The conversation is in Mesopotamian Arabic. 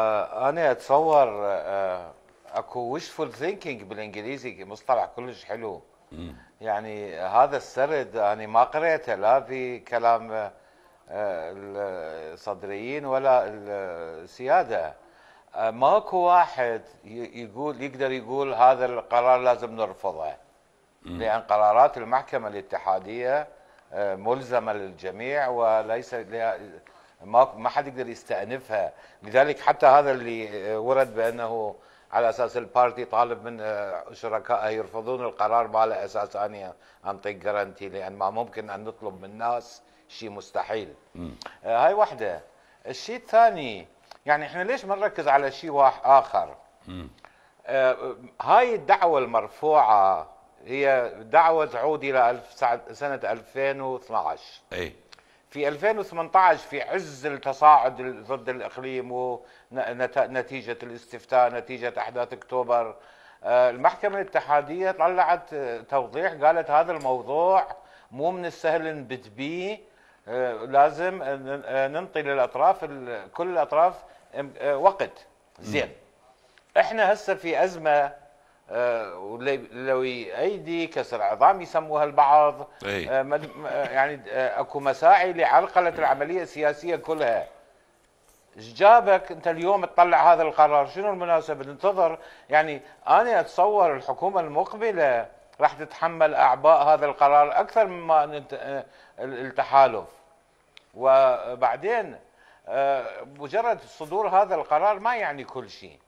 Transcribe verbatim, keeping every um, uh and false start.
انا اتصور آه، اكو wishful thinking بالانجليزي، مصطلح كلش حلو. يعني هذا السرد انا ما قريته لا في كلام آه، الصدريين ولا السياده. آه، ماكو واحد يقول يقدر يقول هذا القرار لازم نرفضه، لان قرارات المحكمه الاتحاديه آه، ملزمه للجميع وليس ما ما حد يقدر يستأنفها. لذلك حتى هذا اللي ورد بانه على اساس البارتي طالب من شركائه يرفضون القرار، ما له اساس اني انطيك جارنتي، لان ما ممكن ان نطلب من الناس شيء مستحيل. آه هاي واحده. الشيء الثاني، يعني احنا ليش ما نركز على شيء واحد اخر؟ آه هاي الدعوه المرفوعه هي دعوه تعود الى سنه ألفين واثنعش. اي في ألفين وثمانية عشر في عز التصاعد ضد الإقليم ونتيجة الاستفتاء، نتيجة أحداث أكتوبر، المحكمة الاتحادية طلعت توضيح، قالت هذا الموضوع مو من السهل نبت به، لازم ننطي للأطراف كل الأطراف وقت. زين، احنا هسه في أزمة لوي ايدي كسر عظام يسموها البعض. أي. يعني اكو مساعي لعرقله العمليه السياسيه كلها. ايش جابك انت اليوم تطلع هذا القرار؟ شنو المناسبه؟ ننتظر. يعني انا اتصور الحكومه المقبله راح تتحمل اعباء هذا القرار اكثر مما التحالف. وبعدين مجرد صدور هذا القرار ما يعني كل شيء.